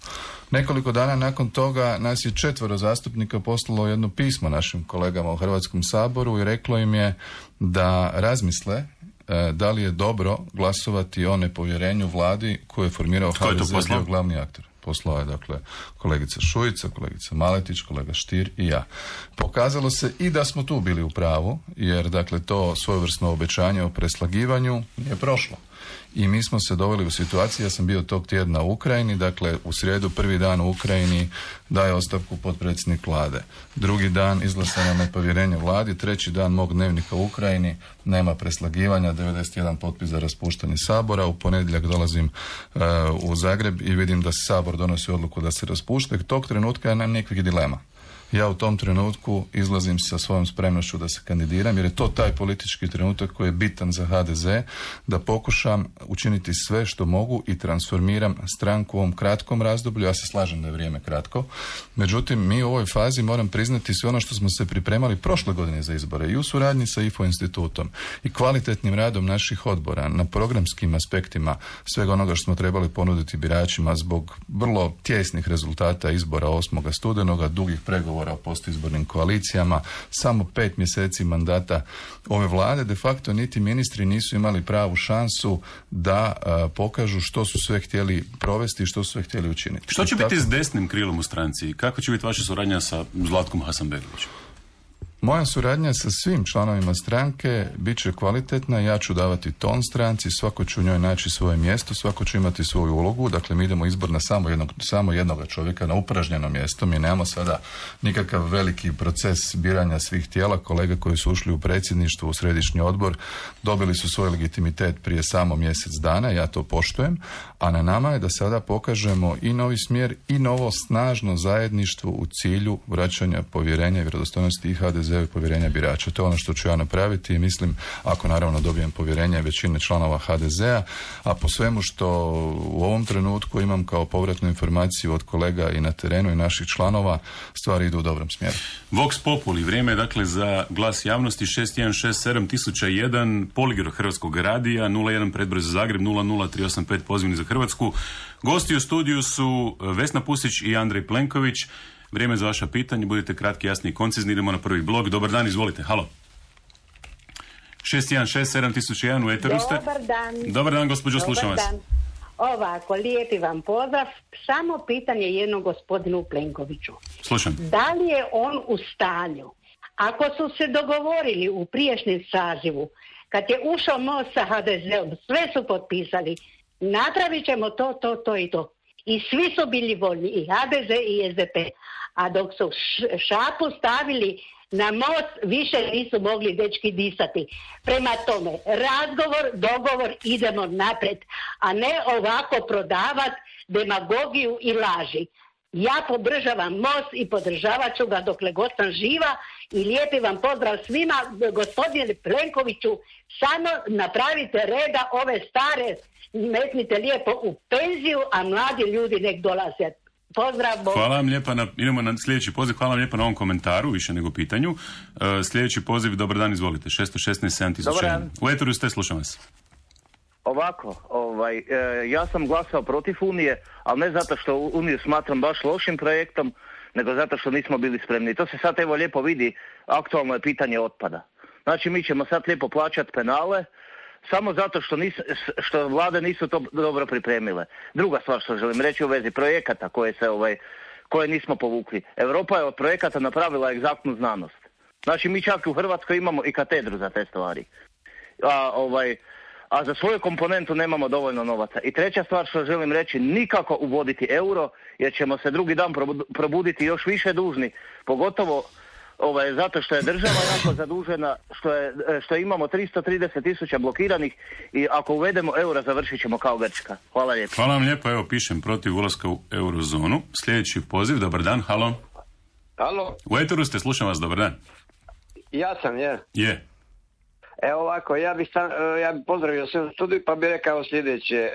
Nekoliko dana nakon toga nas je 4 zastupnika poslalo jedno pismo našim kolegama u Hrvatskom saboru i reklo im je da razmisle da li je dobro glasovati o nepovjerenju vladi koju je formirao HDZ, bio glavni aktor. Poslao je, dakle, kolegica Šuica, kolegica Maletić, kolega Stier i ja. Pokazalo se i da smo tu bili u pravu, jer, dakle, to svojevrsno obećanje o preslagivanju je prošlo. I mi smo se doveli u situaciju, ja sam bio tog tjedna u Ukrajini, dakle u srijedu prvi dan u Ukrajini daje ostavku potpredsjednik vlade. Drugi dan izglasano nepovjerenje vladi, treći dan mog dnevnika u Ukrajini, nema preslagivanja, 91 potpis za raspuštanje sabora. U ponedjeljak dolazim u Zagreb i vidim da sabor donosi odluku da se raspušta. Tog trenutka ja nemam nikakvih dilema. Ja u tom trenutku izlazim sa svojom spremnošću da se kandidiram, jer je to taj politički trenutak koji je bitan za HDZ, da pokušam učiniti sve što mogu i transformiram stranku u ovom kratkom razdoblju. Ja se slažem da je vrijeme kratko, međutim mi u ovoj fazi, moram priznati, sve ono što smo se pripremali prošle godine za izbore i u suradnji sa IFO institutom i kvalitetnim radom naših odbora na programskim aspektima svega onoga što smo trebali ponuditi biračima zbog vrlo tijesnih rezultata izbora 8. studenoga, dugih pregovora o postizbornim koalicijama, samo 5 mjeseci mandata ove vlade, de facto niti ministri nisu imali pravu šansu da pokažu što su sve htjeli provesti i što su sve htjeli učiniti. Što će biti s desnim krilom u stranci? Kako će biti vaša suradnja sa Zlatkom Hasanbegovićem? Moja suradnja sa svim članovima stranke bit će kvalitetna, ja ću davati ton stranci, svako će u njoj naći svoje mjesto, svako će imati svoju ulogu, dakle mi idemo izbor na samo jednog čovjeka, na upražnjeno mjesto, mi nemamo sada nikakav veliki proces biranja svih tijela. Kolege koji su ušli u predsjedništvo, u središnji odbor, dobili su svoj legitimitet prije samo mjesec dana, ja to poštujem, a na nama je da sada pokažemo i novi smjer i novo snažno zajedništvo u cilju vraćanja povjerenja i vjerodostojnosti i HDZ i povjerenja birača. To je ono što ću ja napraviti i mislim, ako naravno dobijem povjerenje većine članova HDZ-a, a po svemu što u ovom trenutku imam kao povratnu informaciju od kolega i na terenu i naših članova, stvari idu u dobrom smjeru. Vox Populi, vrijeme je dakle za glas javnosti 6167-1001, Poligraf Hrvatskog radija, 01 predbroj za Zagreb, 00385 pozivni za Hrvatsku. Gosti u studiju su Vesna Pusić i Andrej Plenković. Vrijeme za vaša pitanja, budite kratki, jasni i koncizni. Idemo na prvi blog. Dobar dan, izvolite. Halo. 6167-1001 u eteru ste. Dobar dan. Dobar dan, gospođo, slušam vas. Ovako, lijepi vam pozdrav. Samo pitanje jedno gospodinu Plenkoviću. Slušam. Da li je on u stanju, ako su se dogovorili u prijašnjem sazivu, kad je ušao most sa HDZ-om, sve su potpisali, napravit ćemo to i to. I svi su bili voljni, i HDZ i SDP. A dok su šapu stavili na most, više nisu mogli dečki disati. Prema tome, razgovor, dogovor, idemo naprijed, a ne ovako prodavati demagogiju i laži. Ja podržavam most i podržavat ću ga dokle god sam živa i lijepi vam pozdrav svima. Gospodine Plenkoviću, samo napravite reda, ove stare metnite lijepo u penziju, a mladi ljudi nek dolaze. Pozdrav. Hvala vam lijepa, idemo na sljedeći poziv. Hvala vam lijepa na ovom komentaru, više nego pitanju. Sljedeći poziv, dobar dan, izvolite. 616-7001. U eteru ste, slušam vas. Ovako, ja sam glasao protiv Unije, ali ne zato što Uniju smatram baš lošim projektom, nego zato što nismo bili spremni. To se sad evo lijepo vidi, aktualno je pitanje otpada. Znači mi ćemo sad lijepo plaćati penale, samo zato što vlade nisu to dobro pripremile. Druga stvar što želim reći u vezi projekata koje nismo povukli. Europa je od projekata napravila egzaktnu znanost. Znači mi čak u Hrvatskoj imamo i katedru za te stvari. a za svoju komponentu nemamo dovoljno novaca. I treća stvar što želim reći, nikako uvoditi euro, jer ćemo se drugi dan probuditi još više dužni, pogotovo zato što je država jako zadužena, što imamo 330.000 blokiranih i ako uvedemo euro završit ćemo kao Grčka. Hvala lijepo. Hvala vam lijepo, evo pišem protiv ulaska u eurozonu. Sljedeći poziv, dobar dan, halo. Halo. U eteru ste, slušam vas, dobar dan. Ja sam, je. Je. Evo ovako, ja bih pozdravio sve studiju pa bih rekao sljedeće.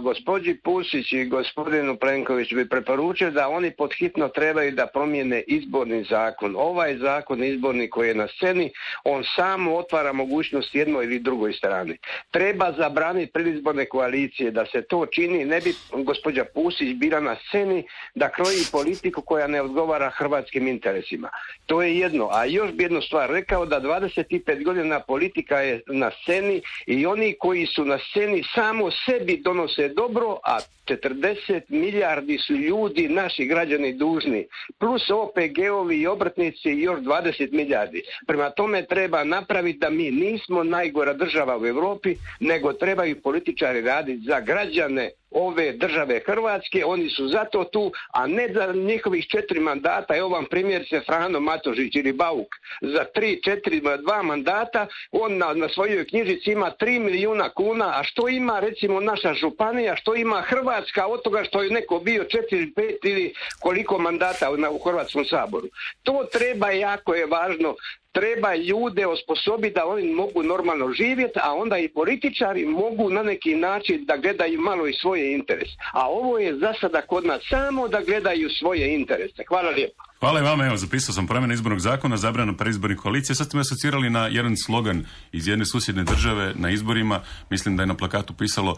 Gospođi Pusić i gospodinu Plenkoviću bi preporučio da oni podhitno trebaju da promijene izborni zakon. Ovaj zakon izborni koji je na sceni, on samo otvara mogućnost jednoj ili drugoj strani. Treba zabraniti predizborne koalicije, da se to čini, ne bi gospođa Pusić bila na sceni da kroji politiku koja ne odgovara hrvatskim interesima. To je jedno. A još bi jednu stvar rekao, da 25 godina politika je na sceni i oni koji su na sceni samo sebi donose dobro, a 40 milijardi su ljudi, naši građani dužni, plus OPG-ovi i obrtnici i još 20 milijardi. Prema tome treba napraviti da mi nismo najgora država u Europi, nego trebaju političari raditi za građane ove države Hrvatske, oni su zato tu, a ne za njihovih 4 mandata. Evo vam primjer se Frano Matošić ili Bauk. Za 2 mandata on na svojoj knjižici ima 3 milijuna kuna, a što ima recimo naša županija, što ima Hrvatska od toga što je neko bio 4, 5 ili koliko mandata u Hrvatskom saboru. To treba, jako je važno. Treba ljude osposobiti da oni mogu normalno živjeti, a onda i političari mogu na neki način da gledaju malo i svoje interese. A ovo je za sada kod nas samo da gledaju svoje interese. Hvala lijepo. Hvala i vama, evo zapisao sam promjenu izbornog zakona, zabranu predizbornih koalicija. Sad ste me asocirali na jedan slogan iz jedne susjedne države na izborima. Mislim da je na plakatu pisalo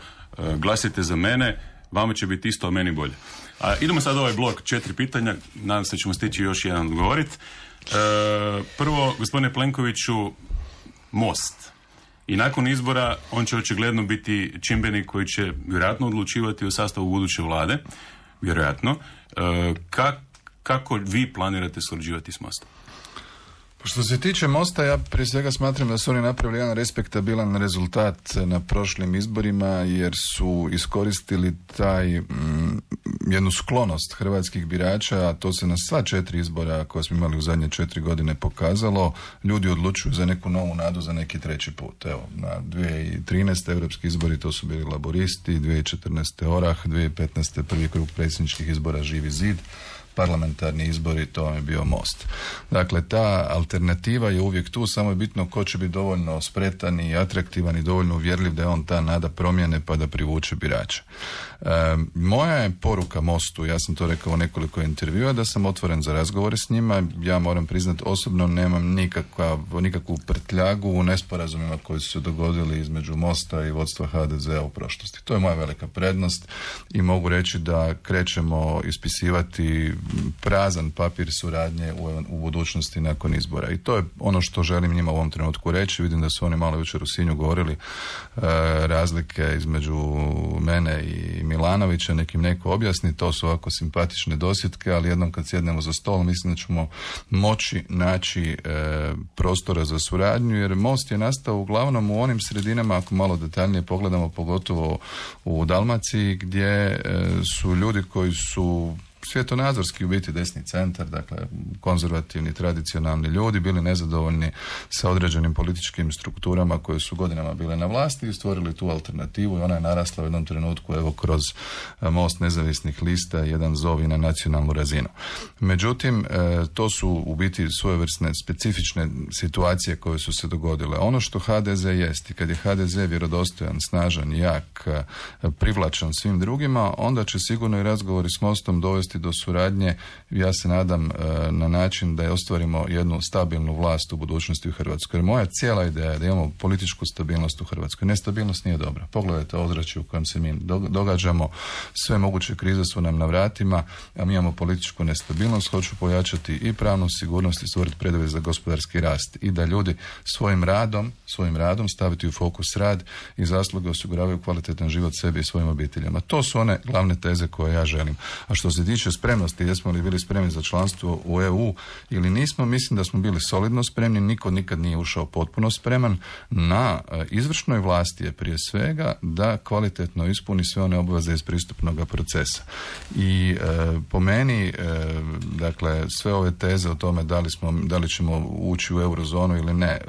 glasite za mene, vama će biti isto, a meni bolje. Idemo sad ovaj blok 4 pitanja, nadam se da ćemo stići još jedan odgovoriti. Prvo, gospodine Plenkoviću, Most. I nakon izbora on će očigledno biti čimbenik koji će vjerojatno odlučivati o sastavu buduće vlade. Vjerojatno. Kako vi planirate surađivati s Mostom? Što se tiče Mosta, ja prije svega smatram da su oni napravili jedan respektabilan rezultat na prošlim izborima, jer su iskoristili jednu sklonost hrvatskih birača, a to se na sva 4 izbora koje smo imali u zadnje 4 godine pokazalo. Ljudi odlučuju za neku novu nadu, za neki 3. put. Evo, na 2013. europski izbori to su bili laboristi, 2014. Orah, 2015. prvi krug predsjedničkih izbora Živi zid, parlamentarni izbori, to vam je bio Most. Dakle, ta alternativa je uvijek tu, samo je bitno ko će biti dovoljno spretan i atraktivan i dovoljno uvjerljiv da je on ta nada promjene pa da privuče birača. Moja je poruka Mostu, ja sam to rekao u nekoliko intervjua, da sam otvoren za razgovore s njima. Ja moram priznati, osobno nemam nikakvu prtljagu u nesporazumima koji su se dogodili između Mosta i vodstva HDZ-a u prošlosti. To je moja velika prednost i mogu reći da krećemo ispisivati prazan papir suradnje u budućnosti nakon izbora. I to je ono što želim njima u ovom trenutku reći. Vidim da su oni malo jučer u Sinju govorili razlike između mene i Milanovića, nekim neko objasni, to su ovako simpatične dosjetke, ali jednom kad sjednemo za stol mislim da ćemo moći naći prostora za suradnju, jer Most je nastao uglavnom u onim sredinama, ako malo detaljnije pogledamo, pogotovo u Dalmaciji, gdje su ljudi koji su svjetonazorski u biti desni centar, dakle konzervativni, tradicionalni ljudi, bili nezadovoljni sa određenim političkim strukturama koje su godinama bile na vlasti i stvorili tu alternativu i ona je narasla u jednom trenutku evo kroz Most nezavisnih lista i jedan zov i na nacionalnu razinu. Međutim, to su u biti svojevrsne specifične situacije koje su se dogodile. Ono što HDZ jest i kad je HDZ vjerodostojan, snažan, jak, privlačan svim drugima, onda će sigurno i razgovori s Mostom dovesti do suradnje, ja se nadam, na način da je ostvarimo jednu stabilnu vlast u budućnosti u Hrvatskoj. Jer moja cijela ideja je da imamo političku stabilnost u Hrvatskoj. Nestabilnost nije dobra. Pogledajte ozračje u kojem se mi događamo, sve moguće krize su nam na vratima, a mi imamo političku nestabilnost. Hoću pojačati i pravnu sigurnost i stvoriti preduvjet za gospodarski rast i da ljudi svojim radom staviti u fokus rad i zasluge osiguravaju kvalitetan život sebi i svojim obiteljima. To su one glavne teze koje ja želim. A što se tiče tiče spremnosti, jesmo li bili spremni za članstvo u EU ili nismo, mislim da smo bili solidno spremni, niko nikad nije ušao potpuno spreman. Na izvršnoj vlasti je prije svega da kvalitetno ispuni sve one obveze iz pristupnog procesa. I po meni, dakle, sve ove teze o tome da li ćemo ući u eurozonu ili ne,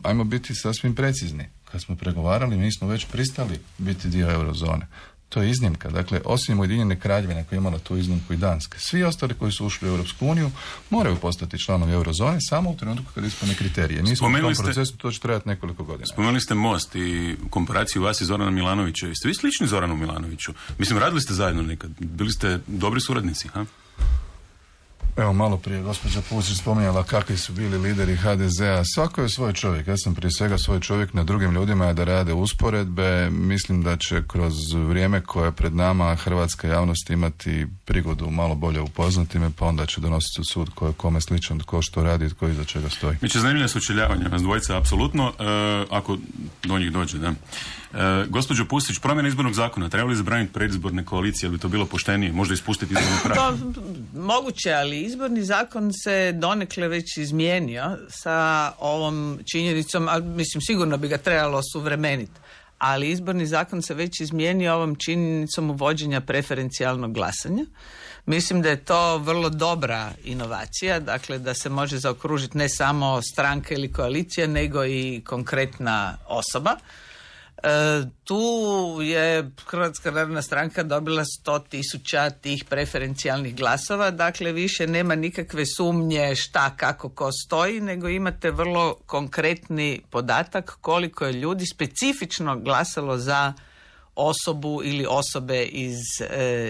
ajmo biti sasvim precizni. Kad smo pregovarali, mi smo već pristali biti dio eurozone. To je iznimka. Dakle, osim Ujedinjene Kraljevine koja je imala tu iznimku i Danske, svi ostali koji su ušli u Europsku uniju moraju postati članovi eurozone samo u trenutku kad ispune kriterije. Mi smo u tom procesu, to će trajati nekoliko godina. Spomenuli ste Most i komparaciju vas i Zorana Milanovića. Jeste vi slični Zoranu Milanoviću? Mislim, radili ste zajedno nekad. Bili ste dobri suradnici, ha? Evo, malo prije gospođa Pusić spominjala kakvi su bili lideri HDZ-a. Svako je svoj čovjek. Ja sam prije svega svoj čovjek, na drugim ljudima da rade usporedbe. Mislim da će kroz vrijeme koje je pred nama hrvatska javnost imati prigodu malo bolje upoznati me, pa onda će donositi sud ko je kome sličan, tko što radi i tko iza čega stoji. Mi će zanimljiva sučeljavanja, vas dvojica, apsolutno, ako do njih dođe, da. Gospođo Pusić, promjena izbornog zakona, treba li zabraniti predizborne koalicije, ili bi to bilo poštenije, možda ispustiti izborni prag? Moguće, ali izborni zakon se donekle već izmijenio sa ovom činjenicom, a mislim sigurno bi ga trebalo suvremeniti, ali izborni zakon se već izmijenio ovom činjenicom uvođenja preferencijalnog glasanja. Mislim da je to vrlo dobra inovacija, dakle da se može zaokružiti ne samo stranka ili koalicija, nego i konkretna osoba. Tu je Hrvatska narodna stranka dobila 100.000 tih preferencijalnih glasova, dakle više nema nikakve sumnje šta, kako, ko stoji, nego imate vrlo konkretni podatak koliko je ljudi specifično glasalo za osobu ili osobe iz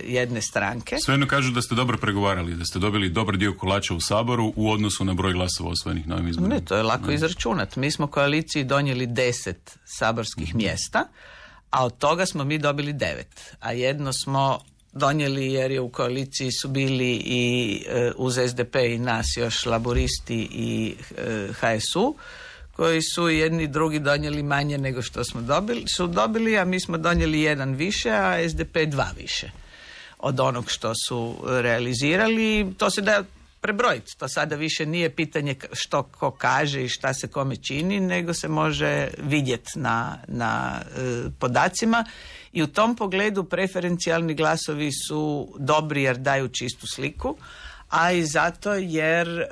jedne stranke. Svejedno kažu da ste dobro pregovarali, da ste dobili dobar dio kolača u Saboru u odnosu na broj glasova osvojenih na ovim izborima. Ne, to je lako izračunati. Mi smo koaliciji donijeli 10 saborskih mjesta, a od toga smo mi dobili 9. A jedno smo donijeli jer je u koaliciji su bili i uz SDP i nas još Laburisti i HSU, koji su jedni i drugi donijeli manje nego što smo dobili, a mi smo donijeli 1 više, a SDP 2 više od onog što su realizirali. To se da prebrojiti. To sada više nije pitanje što ko kaže i šta se kome čini, nego se može vidjeti na podacima. I u tom pogledu preferencijalni glasovi su dobri jer daju čistu sliku, a i zato jer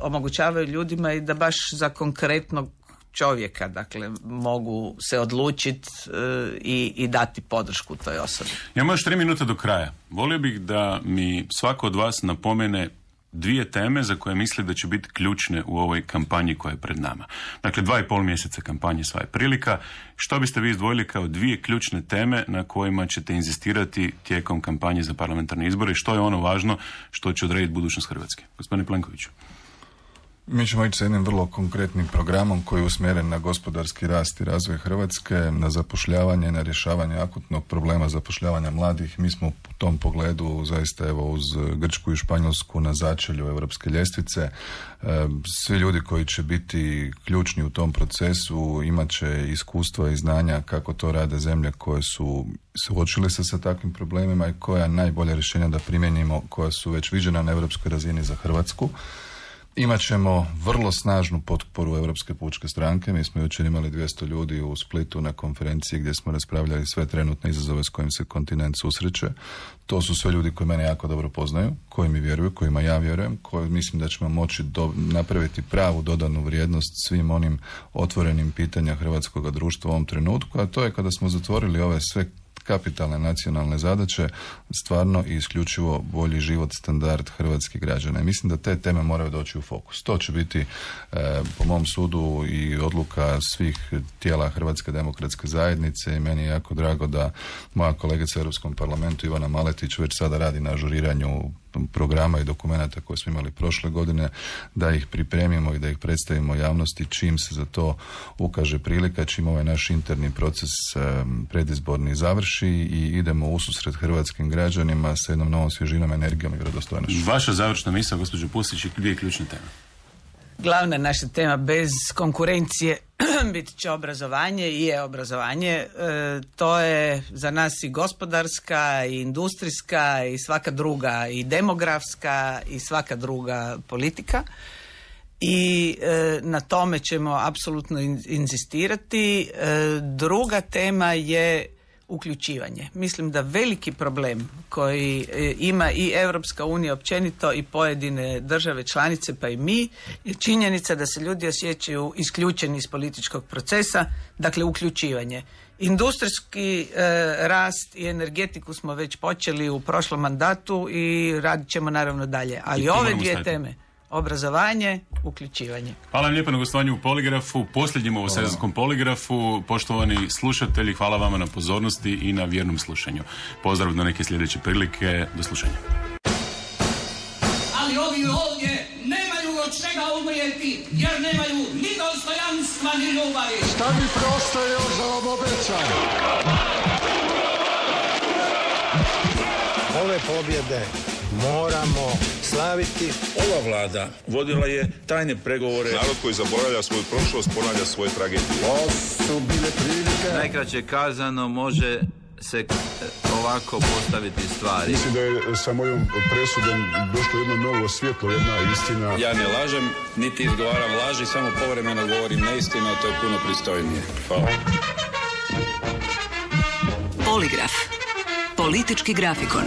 omogućavaju ljudima i da baš za konkretnog čovjeka, dakle, mogu se odlučiti i dati podršku toj osobi. Imamo još 3 minute do kraja. Volio bih da mi svako od vas napomene 2 teme za koje misli da će biti ključne u ovoj kampanji koja je pred nama. Dakle, 2,5 mjeseca kampanje, sva je prilika. Što biste vi izdvojili kao 2 ključne teme na kojima ćete inzistirati tijekom kampanje za parlamentarne izbore i što je ono važno što će odrediti budućnost Hrvatske? Gospodine Plenkoviću. Mi ćemo ići sa jednim vrlo konkretnim programom koji je usmjeren na gospodarski rast i razvoj Hrvatske, na zapošljavanje, na rješavanje akutnog problema zapošljavanja mladih. Mi smo u tom pogledu zaista evo uz Grčku i Španjolsku na začelju europske ljestvice. Svi ljudi koji će biti ključni u tom procesu imat će iskustva i znanja kako to rade zemlje koje su suočile se sa takvim problemima i koja najbolja rješenja da primijenimo, koja su već viđena na europskoj razini za Hrvatsku. Imat ćemo vrlo snažnu potporu Europske pučke stranke. Mi smo jučer imali 200 ljudi u Splitu na konferenciji gdje smo raspravljali sve trenutne izazove s kojim se kontinent susreće. To su sve ljudi koji mene jako dobro poznaju, koji mi vjeruju, kojima ja vjerujem, koji mislim da ćemo moći napraviti pravu dodanu vrijednost svim onim otvorenim pitanja hrvatskog društva u ovom trenutku, a to je kada smo zatvorili ove sve kapitalne nacionalne zadaće, stvarno i isključivo bolji život, standard hrvatskih građana. I mislim da te teme moraju doći u fokus. To će biti, po mom sudu, i odluka svih tijela Hrvatske demokratske zajednice i meni je jako drago da moja kolegica u Europskom parlamentu Ivana Maletić već sada radi na ažuriranju programa i dokumenata koje smo imali prošle godine, da ih pripremimo i da ih predstavimo javnosti čim se za to ukaže prilika, čim ovaj naš interni proces predizborni završi i idemo ususret hrvatskim građanima sa jednom novom svježinom, energijom i vjerodostojnošću. Vaša završna misao, gospođo Pusić, i 2 ključne teme. Glavna naša tema bez konkurencije biti će obrazovanje i je obrazovanje. To je za nas i gospodarska i industrijska i svaka druga i demografska i svaka druga politika. I na tome ćemo apsolutno inzistirati. Druga tema je uključivanje. Mislim da veliki problem koji ima i Europska unija općenito i pojedine države članice pa i mi je činjenica da se ljudi osjećaju isključeni iz političkog procesa, dakle uključivanje. Industrijski rast i energetiku smo već počeli u prošlom mandatu i radit ćemo naravno dalje. Ali ove dvije teme, obrazovanje, uključivanje. Hvala vam lijepo na gostovanju u Poligrafu, posljednjem ovosezonskom Poligrafu. Poštovani slušatelji, hvala vama na pozornosti i na vjernom slušanju. Pozdrav do neke sljedeće prilike. Do slušanja. Ali ovi ovdje nemaju od čega umrijeti, jer nemaju ni dostojanstva ni ljubavi. Šta mi preostaje još da vam obećam? Ove pobjede moramo slaviti. Ova vlada vodila je tajne pregovore. Narod koji zaboravlja svoju prošlost ponavlja svoje tragedije. Ovo su bile prilike. Najkraće kazano može se ovako postaviti stvari. Mislim da je sa mojom presudom došlo jedno novo svjetlo, jedna istina. Ja ne lažem, niti izgovaram laži, samo povremeno govorim neistinu, a to je puno pristojnije. Hvala. Poligraf. Politički grafikon.